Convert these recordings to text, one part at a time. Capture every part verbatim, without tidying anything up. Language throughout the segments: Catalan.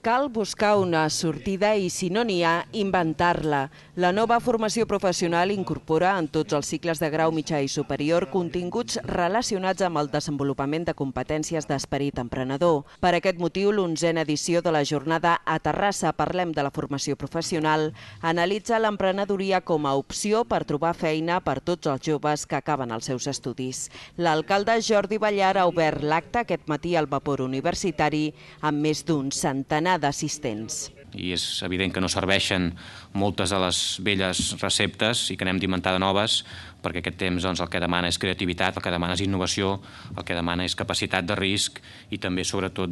Cal buscar una sortida i, si no n'hi ha, inventar-la. La nova formació professional incorpora en tots els cicles de grau mitjà i superior continguts relacionats amb el desenvolupament de competències d'esperit emprenedor. Per aquest motiu, l'onzena edició de la jornada A Terrassa Parlem de la Formació Professional analitza l'emprenedoria com a opció per trobar feina per tots els joves que acaben els seus estudis. L'alcalde Jordi Ballar ha obert l'acte aquest matí al Vapor Universitari amb més d'un centenar d'assistents. I és evident que no serveixen moltes de les velles receptes i que n'hem d'inventar de noves, perquè aquest temps el que demana és creativitat, el que demana és innovació, el que demana és capacitat de risc i també, sobretot,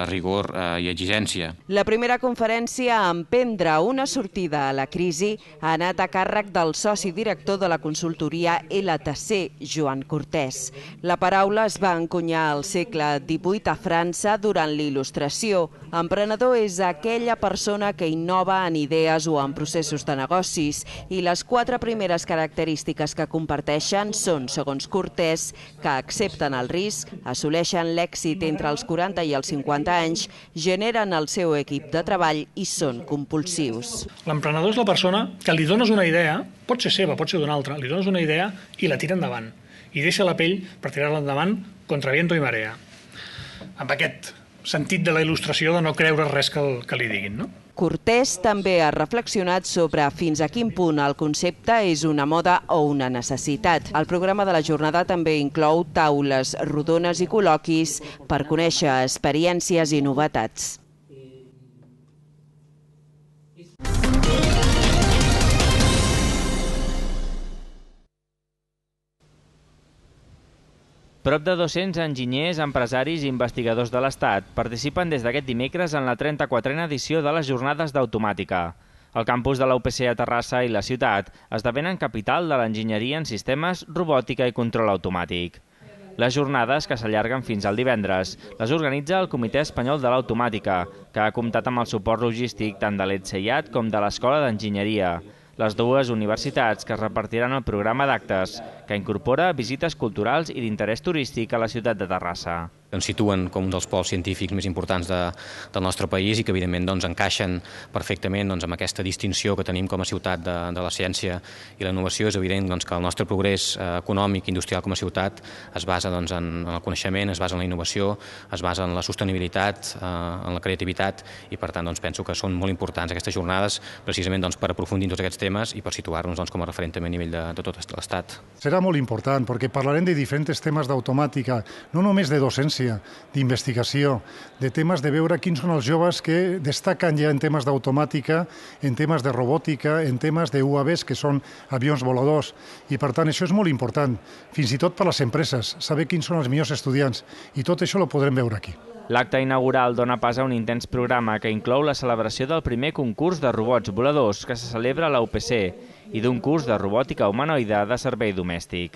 rigor i exigència. La primera conferència a emprendre una sortida a la crisi ha anat a càrrec del soci director de la consultoria L T C, Joan Cortés. La paraula es va encunyar al segle divuit a França durant l'Il·lustració. Emprenedor és aquella persona que innova en idees o en processos de negocis i les quatre primeres característiques que comparteixen són, segons Cortés, que accepten el risc, assoleixen l'èxit entre els quaranta i els cinquanta anys, generen el seu equip de treball i són compulsius. L'emprenedor és la persona que li dones una idea, pot ser seva, pot ser d'una altra, li dones una idea i la tira endavant. I deixa la pell per tirar-la endavant contra viento i marea. Amb aquest sentit de la il·lustració de no creure res que, el, que li diguin, no? Cortés també ha reflexionat sobre fins a quin punt el concepte és una moda o una necessitat. El programa de la jornada també inclou taules rodones i col·loquis per conèixer experiències i novetats. Prop de dos-cents enginyers, empresaris i investigadors de l'Estat participen des d'aquest dimecres en la trenta-quatrena edició de les Jornades d'Automàtica. El campus de la U P C a Terrassa i la ciutat esdevenen capital de l'enginyeria en sistemes, robòtica i control automàtic. Les jornades, que s'allarguen fins al divendres, les organitza el Comitè Espanyol de l'Automàtica, que ha comptat amb el suport logístic tant de l'E T S E I A T com de l'Escola d'Enginyeria, les dues universitats que repartiran el programa d'actes, que incorpora visites culturals i d'interès turístic a la ciutat de Terrassa. Ens situen com un dels pols científics més importants de, del nostre país i que evidentment doncs, encaixen perfectament doncs, amb aquesta distinció que tenim com a ciutat de, de la ciència i la innovació. És evident doncs, que el nostre progrés eh, econòmic i industrial com a ciutat es basa doncs, en, en el coneixement, es basa en la innovació, es basa en la sostenibilitat, eh, en la creativitat i per tant doncs, penso que són molt importants aquestes jornades precisament doncs, per aprofundir en tots aquests temes i per situar-nos doncs, com a referent també a nivell de, de tot l'Estat. Serà molt important perquè parlarem de diferents temes d'automàtica, no només de docència, d'investigació, de temes de veure quins són els joves que destaquen ja en temes d'automàtica, en temes de robòtica, en temes d'U A Vs, que són avions voladors. I, per tant, això és molt important, fins i tot per a les empreses, saber quins són els millors estudiants. I tot això ho podrem veure aquí. L'acte inaugural dona pas a un intens programa que inclou la celebració del primer concurs de robots voladors que se celebra a la U P C i d'un curs de robòtica humanoide de servei domèstic.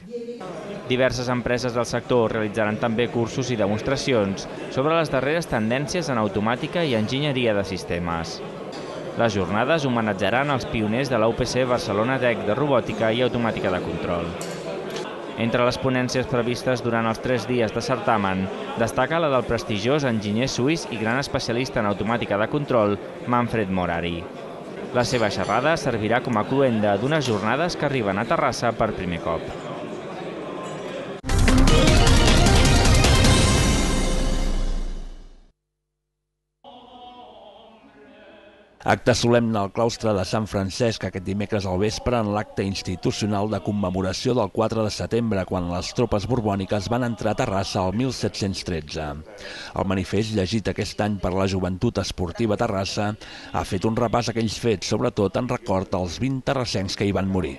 Diverses empreses del sector realitzaran també cursos i demostracions sobre les darreres tendències en automàtica i enginyeria de sistemes. Les jornades homenatjaran els pioners de la U P C Barcelona Tech de robòtica i automàtica de control. Entre les ponències previstes durant els tres dies de certamen, destaca la del prestigiós enginyer suís i gran especialista en automàtica de control, Manfred Morari. La seva xerrada servirà com a cloenda d'unes jornades que arriben a Terrassa per primer cop. Acte solemne al claustre de Sant Francesc aquest dimecres al vespre en l'acte institucional de commemoració del quatre de setembre, quan les tropes borbòniques van entrar a Terrassa el mil set-cents tretze. El manifest, llegit aquest any per la Joventut Esportiva Terrassa, ha fet un repàs a aquells fets, sobretot en record als vint terrassencs que hi van morir.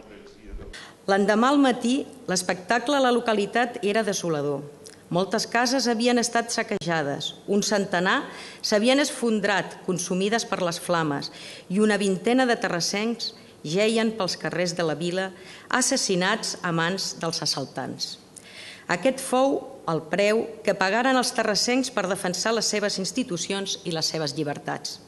L'endemà al matí, l'espectacle a la localitat era desolador. Moltes cases havien estat saquejades, un centenar s'havien esfondrat, consumides per les flames, i una vintena de terrassencs geien pels carrers de la vila, assassinats a mans dels assaltants. Aquest fou el preu que pagaren els terrassencs per defensar les seves institucions i les seves llibertats.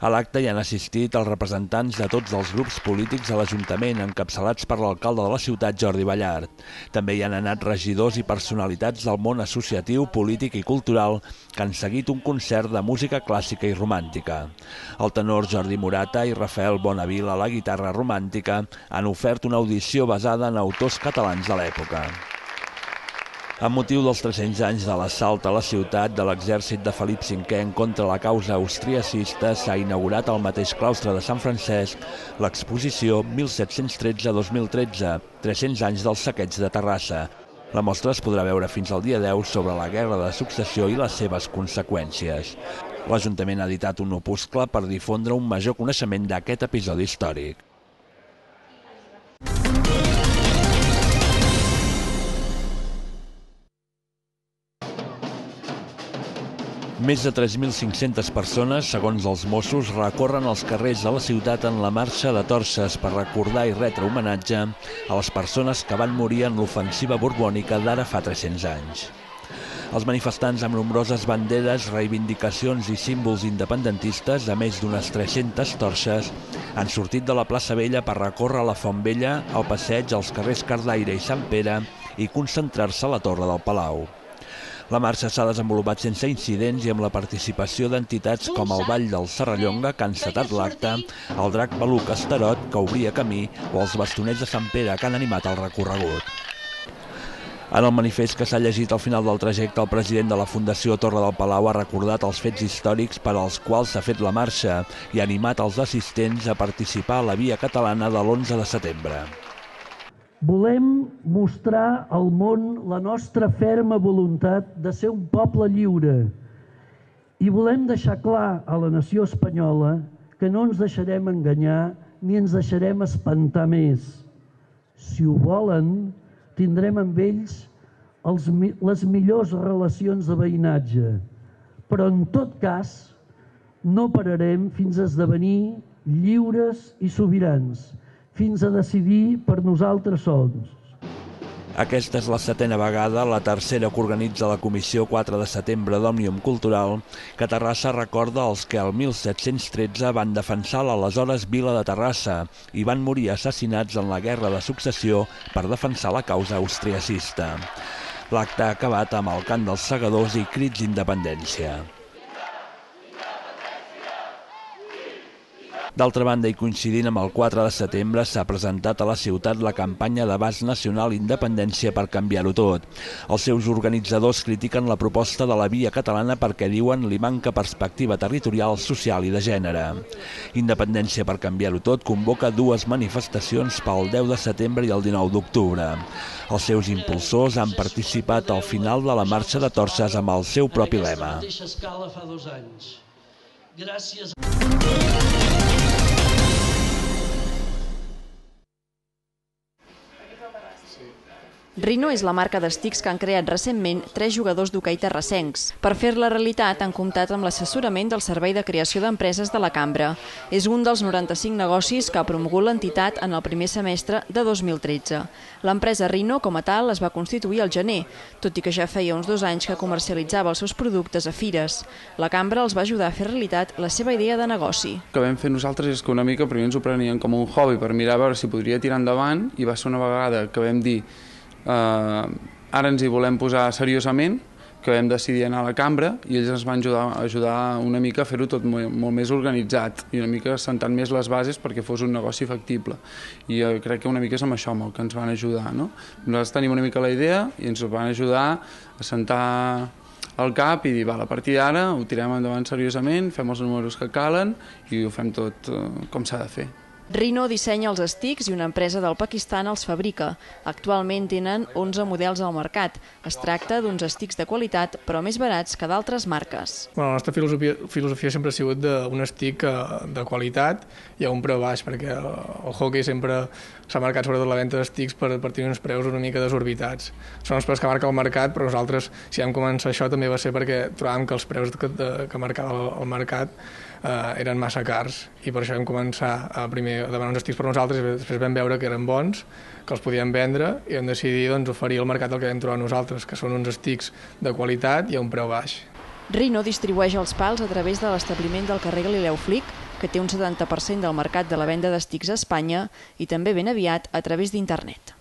A l'acte hi han assistit els representants de tots els grups polítics de l'Ajuntament, encapçalats per l'alcalde de la ciutat, Jordi Ballart. També hi han anat regidors i personalitats del món associatiu, polític i cultural que han seguit un concert de música clàssica i romàntica. El tenor Jordi Morata i Rafael Bonavil a la guitarra romàntica han ofert una audició basada en autors catalans de l'època. Amb motiu dels tres-cents anys de l'assalt a la ciutat de l'exèrcit de Felip cinquè en contra la causa austriacista, s'ha inaugurat al mateix claustre de Sant Francesc l'exposició mil set-cents tretze a dos mil tretze, tres-cents anys del saqueig de Terrassa. La mostra es podrà veure fins al dia deu sobre la Guerra de Successió i les seves conseqüències. L'Ajuntament ha editat un opuscle per difondre un major coneixement d'aquest episodi històric. Més de tres mil cinc-centes persones, segons els Mossos, recorren els carrers de la ciutat en la marxa de Torses per recordar i retre homenatge a les persones que van morir en l'ofensiva borbònica d'ara fa tres-cents anys. Els manifestants amb nombroses banderes, reivindicacions i símbols independentistes, a més d'unes tres-centes torxes, han sortit de la plaça Vella per recórrer la Font Vella, el passeig, els carrers Cardaire i Sant Pere i concentrar-se a la Torre del Palau. La marxa s'ha desenvolupat sense incidents i amb la participació d'entitats com el Ball del Serrallonga, que han encetat l'acte, el Drac Peluc Estarot, que obria camí, o els bastonets de Sant Pere, que han animat el recorregut. En el manifest que s'ha llegit al final del trajecte, el president de la Fundació Torre del Palau ha recordat els fets històrics per als quals s'ha fet la marxa i ha animat els assistents a participar a la Via Catalana de l'onze de setembre. Volem mostrar al món la nostra ferma voluntat de ser un poble lliure i volem deixar clar a la nació espanyola que no ens deixarem enganyar ni ens deixarem espantar més. Si ho volen, tindrem amb ells els, les millors relacions de veïnatge, però en tot cas no pararem fins a esdevenir lliures i sobirans, fins a decidir per nosaltres sols. Aquesta és la setena vegada, la tercera que organitza la Comissió quatre de setembre d'Òmnium Cultural, que Terrassa recorda els que el mil set-cents tretze van defensar l'aleshores vila de Terrassa i van morir assassinats en la Guerra de Successió per defensar la causa austriacista. L'acte ha acabat amb el cant dels segadors i crits d'independència. D'altra banda, i coincidint amb el quatre de setembre, s'ha presentat a la ciutat la campanya d'abast nacional Independència per canviar-ho tot. Els seus organitzadors critiquen la proposta de la Via Catalana perquè diuen li manca perspectiva territorial, social i de gènere. Independència per canviar-ho tot convoca dues manifestacions pel deu de setembre i el dinou d'octubre. Els seus impulsors han participat al final de la marxa de Torses amb el seu propi lema. Gràcies. Rino és la marca d'estics que han creat recentment tres jugadors d'hoquei terrassencs. Per fer-la realitat han comptat amb l'assessorament del Servei de Creació d'Empreses de la Cambra. És un dels noranta-cinc negocis que ha promogut l'entitat en el primer semestre de dos mil tretze. L'empresa Rino, com a tal, es va constituir al gener, tot i que ja feia uns dos anys que comercialitzava els seus productes a fires. La Cambra els va ajudar a fer realitat la seva idea de negoci. El que vam fer nosaltres és que una mica primer ens ho prenien com un hobby per mirar a veure si podria tirar endavant, i va ser una vegada que vam dir Uh, ara ens hi volem posar seriosament, que vam decidir anar a la cambra, i ells ens van ajudar, ajudar una mica a fer-ho tot molt, molt més organitzat i una mica sentant més les bases perquè fos un negoci factible, i uh, crec que una mica és amb això amb el que ens van ajudar, no? Nosaltres tenim una mica la idea i ens van ajudar a sentar el cap i dir, val, a partir d'ara ho tirem endavant seriosament, fem els números que calen i ho fem tot uh, com s'ha de fer. Rino dissenya els estics i una empresa del Pakistan els fabrica. Actualment tenen onze models al mercat. Es tracta d'uns estics de qualitat, però més barats que d'altres marques. Bueno, la nostra filosofia, filosofia sempre ha sigut d'un estic de qualitat i a un preu baix, perquè el, el hockey sempre s'ha marcat sobretot la venda d'estics per, per tenir uns preus una mica desorbitats. Són els preus que marca el mercat, però nosaltres, si vam començar això, també va ser perquè trobàvem que els preus que, de, que marcava el, el mercat eh, eren massa cars, i per això vam començar a primer a demanar uns estics per nosaltres i després vam veure que eren bons, que els podíem vendre, i vam decidir doncs, oferir al mercat el que vam trobar nosaltres, que són uns estics de qualitat i a un preu baix. Rino distribueix els pals a través de l'establiment del carrer Galileu Flic, que té un setanta per cent del mercat de la venda d'estics a Espanya i també ben aviat a través d'internet.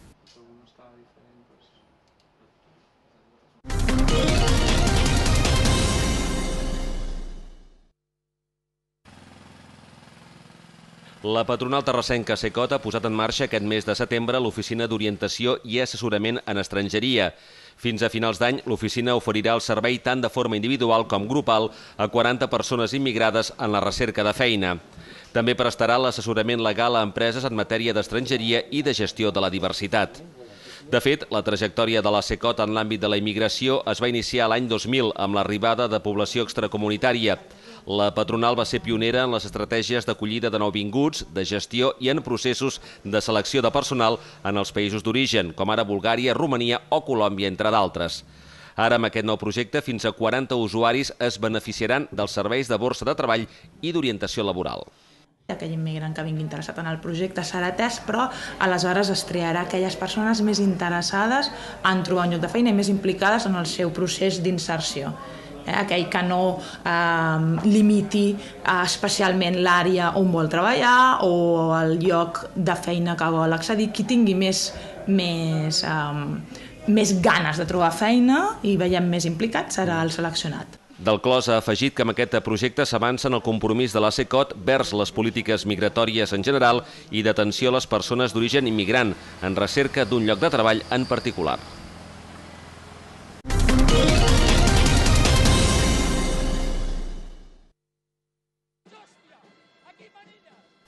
La patronal terrassenca Secot ha posat en marxa aquest mes de setembre l'oficina d'orientació i assessorament en estrangeria. Fins a finals d'any, l'oficina oferirà el servei tant de forma individual com grupal a quaranta persones immigrades en la recerca de feina. També prestarà l'assessorament legal a empreses en matèria d'estrangeria i de gestió de la diversitat. De fet, la trajectòria de la Secot en l'àmbit de la immigració es va iniciar l'any dos mil amb l'arribada de població extracomunitària. La patronal va ser pionera en les estratègies d'acollida de nouvinguts, de gestió i en processos de selecció de personal en els països d'origen, com ara Bulgària, Romania o Colòmbia, entre d'altres. Ara, amb aquest nou projecte, fins a quaranta usuaris es beneficiaran dels serveis de borsa de treball i d'orientació laboral. Aquell immigrant que vingui interessat en el projecte serà atès, però aleshores es triarà aquelles persones més interessades en trobar un lloc de feina i més implicades en el seu procés d'inserció. Eh, aquell que no eh, limiti eh, especialment l'àrea on vol treballar o el lloc de feina que vol accedir, qui tingui més, més, eh, més ganes de trobar feina i veiem més implicat serà el seleccionat. Del Clos ha afegit que amb aquest projecte s'avança en el compromís de la Secot vers les polítiques migratòries en general i d'atenció a les persones d'origen immigrant, en recerca d'un lloc de treball en particular.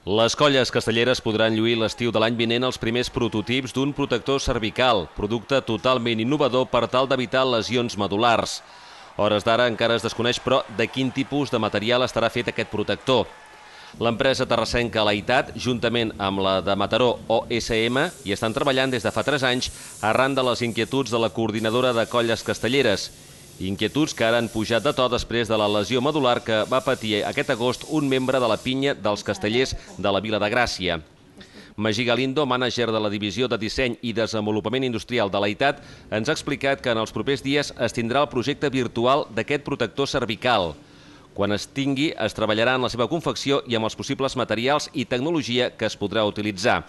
Les colles castelleres podran lluir l'estiu de l'any vinent els primers prototips d'un protector cervical, producte totalment innovador per tal d'evitar lesions medul·lars. A hores d'ara encara es desconeix, però, de quin tipus de material estarà fet aquest protector. L'empresa terrassenca Laitat, juntament amb la de Mataró O S M, hi estan treballant des de fa tres anys arran de les inquietuds de la coordinadora de colles castelleres. Inquietuds que ara han pujat de to després de la lesió medular que va patir aquest agost un membre de la pinya dels castellers de la Vila de Gràcia. Magí Galindo, mànager de la Divisió de Disseny i Desenvolupament Industrial de Laitat, ens ha explicat que en els propers dies es tindrà el projecte virtual d'aquest protector cervical. Quan es tingui, es treballarà en la seva confecció i amb els possibles materials i tecnologia que es podrà utilitzar.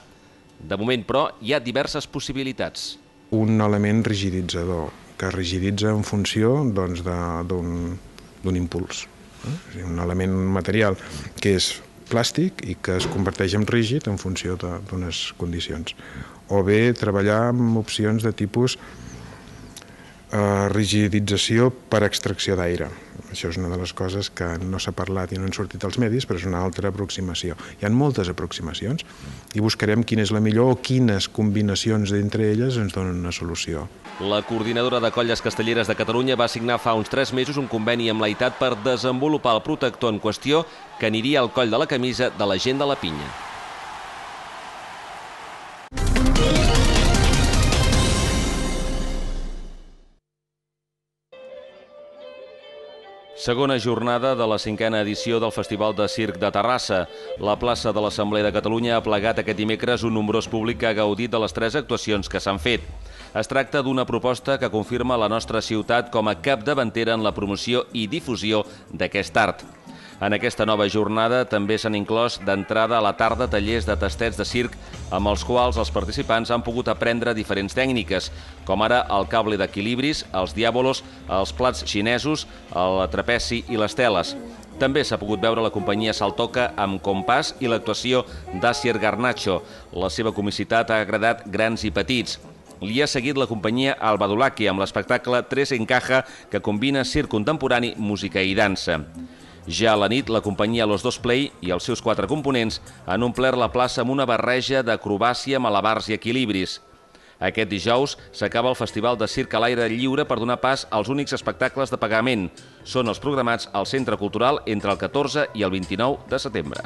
De moment, però, hi ha diverses possibilitats. Un element rigiditzador, que rigiditza en funció doncs, d'un impuls. Eh? Un element material que és plàstic i que es converteix en rígid en funció d'unes condicions. O bé treballar amb opcions de tipus eh, rigidització per extracció d'aire. Això és una de les coses que no s'ha parlat i no han sortit als medis, però és una altra aproximació. Hi ha moltes aproximacions i buscarem quina és la millor o quines combinacions d'entre elles ens donen una solució. La coordinadora de colles castelleres de Catalunya va signar fa uns tres mesos un conveni amb Laitat per desenvolupar el protector en qüestió que aniria al coll de la camisa de la gent de la pinya. Segona jornada de la cinquena edició del Festival de Circ de Terrassa. La plaça de l'Assemblea de Catalunya ha plegat aquest dimecres un nombrós públic que ha gaudit de les tres actuacions que s'han fet. Es tracta d'una proposta que confirma la nostra ciutat com a capdavantera en la promoció i difusió d'aquest art. En aquesta nova jornada també s'han inclòs d'entrada a la tarda tallers de tastets de circ amb els quals els participants han pogut aprendre diferents tècniques, com ara el cable d'equilibris, els diàbolos, els plats xinesos, el trapeci i les teles. També s'ha pogut veure la companyia Saltoca amb compàs i l'actuació d'Asier Garnacho. La seva comicitat ha agradat grans i petits. Li ha seguit la companyia Albadulaki amb l'espectacle Tres en Caja, que combina circ contemporani, música i dansa. Ja a la nit, la companyia Los Dos Play i els seus quatre components han omplert la plaça amb una barreja d'acrobàcia, malabars i equilibris. Aquest dijous s'acaba el Festival de Circ a l'aire lliure per donar pas als únics espectacles de pagament. Són els programats al Centre Cultural entre el catorze i el vint-i-nou de setembre.